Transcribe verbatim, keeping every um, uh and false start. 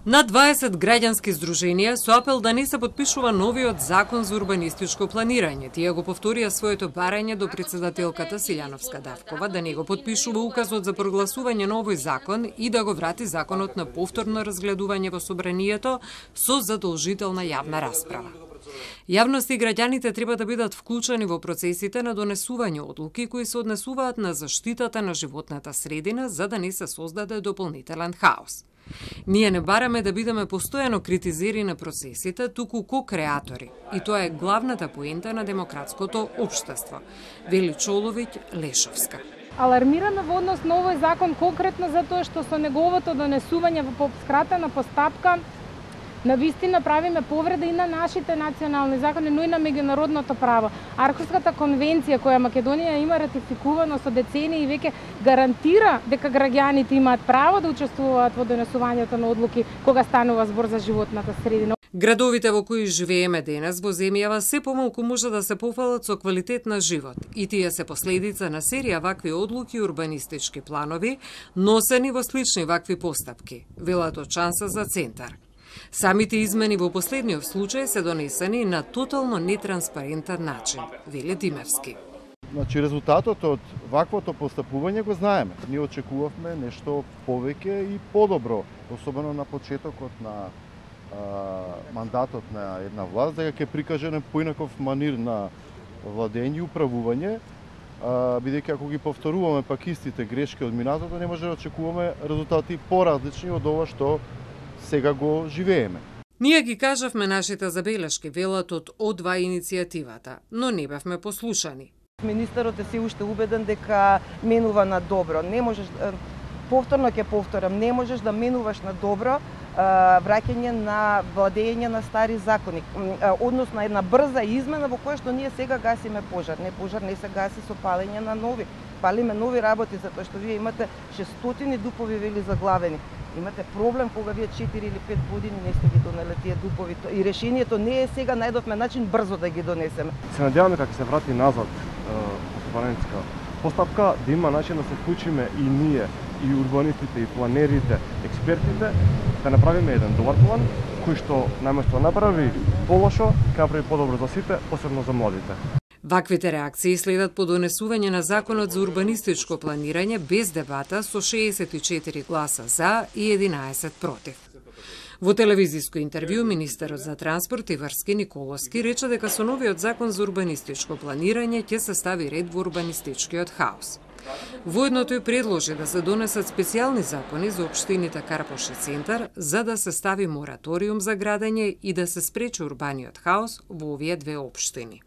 На дваесет граѓански здруженија со апел да не се подпишува новиот закон за урбанистичко планирање. Тие го повторија своето барање до председателката Силјановска Давкова да не го подпишува указот за прогласување на овој закон и да го врати законот на повторно разгледување во собранието со задолжителна јавна расправа. Јавноста и граѓаните треба да бидат вклучени во процесите на донесување одлуки кои се однесуваат на заштитата на животната средина за да не се создаде дополнителен хаос. Ние не бараме да бидеме постојано критизери на процесите, туку ко-креатори. И тоа е главната поента на демократското општество, вели Чоловиќ Лешовска. Алармираме во однос на овој закон конкретно затоа што со неговото донесување во скратена постапка на вистина правиме повреда и на нашите национални закони, но и на меѓународното право. Архуската конвенција која Македонија има ратификувано со децении и веќе гарантира дека граѓаните имаат право да учествуваат во донесувањето на одлуки кога станува збор за животната средина. Градовите во кои живееме денес во земјава се помалку може да се пофалат со квалитет на живот и тие се последица на серија вакви одлуки и урбанистички планови носени во слични вакви постапки, велат од Шанса за Центар. Самите измени во последниот случај се донесени на тотално нетранспарентен начин, вели Димевски. Значи, резултатот од ваквото постапување го знаеме. Ние очекувавме нешто повеќе и подобро, особено на почетокот на а, мандатот на една власт, дека ќе прикаже на поинаков манир на владење и управување, бидејќи ако ги повторуваме пак истите грешки од минатото, не може да очекуваме резултати поразлични од ова што сега го живееме. Ние ги кажавме нашите забелешки, велат од О два иницијативата, но не бевме послушани. Министерот е се уште убеден дека менува на добро. Не можеш, повторно ќе повторам, не можеш да менуваш на добро враќање на владење на стари закони, односно една брза измена во која што ние сега гасиме пожар. Не, пожар не се гаси со палење на нови. Палиме нови работи, затоа што вие имате шестстотини дупови вели заглавени. Имате проблем кога вие четири или пет години не сте ги донеле тие дупови. И решението не е сега, најдовме начин брзо да ги донесеме. Се надеваме како се врати назад парламентска постапка, да има начин да се вклучиме и ние, и урбанистите, и планерите, експертите, да направиме еден добар план, кој што наместо да направи полошо, ќе направи подобро за сите, посебно за младите. Ваквите реакции следат по донесување на законот за урбанистичко планирање без дебата со шеесет и четири гласа за и единаесет против. Во телевизиско интервју министерот за транспорт и врски Николовски рече дека со новиот закон за урбанистичко планирање ќе се стави ред во урбанистичкиот хаос. Воедното и предложи да се донесат специјални закони за општините Карпош и Центар за да се стави мораториум за градење и да се спречи урбаниот хаос во овие две општини.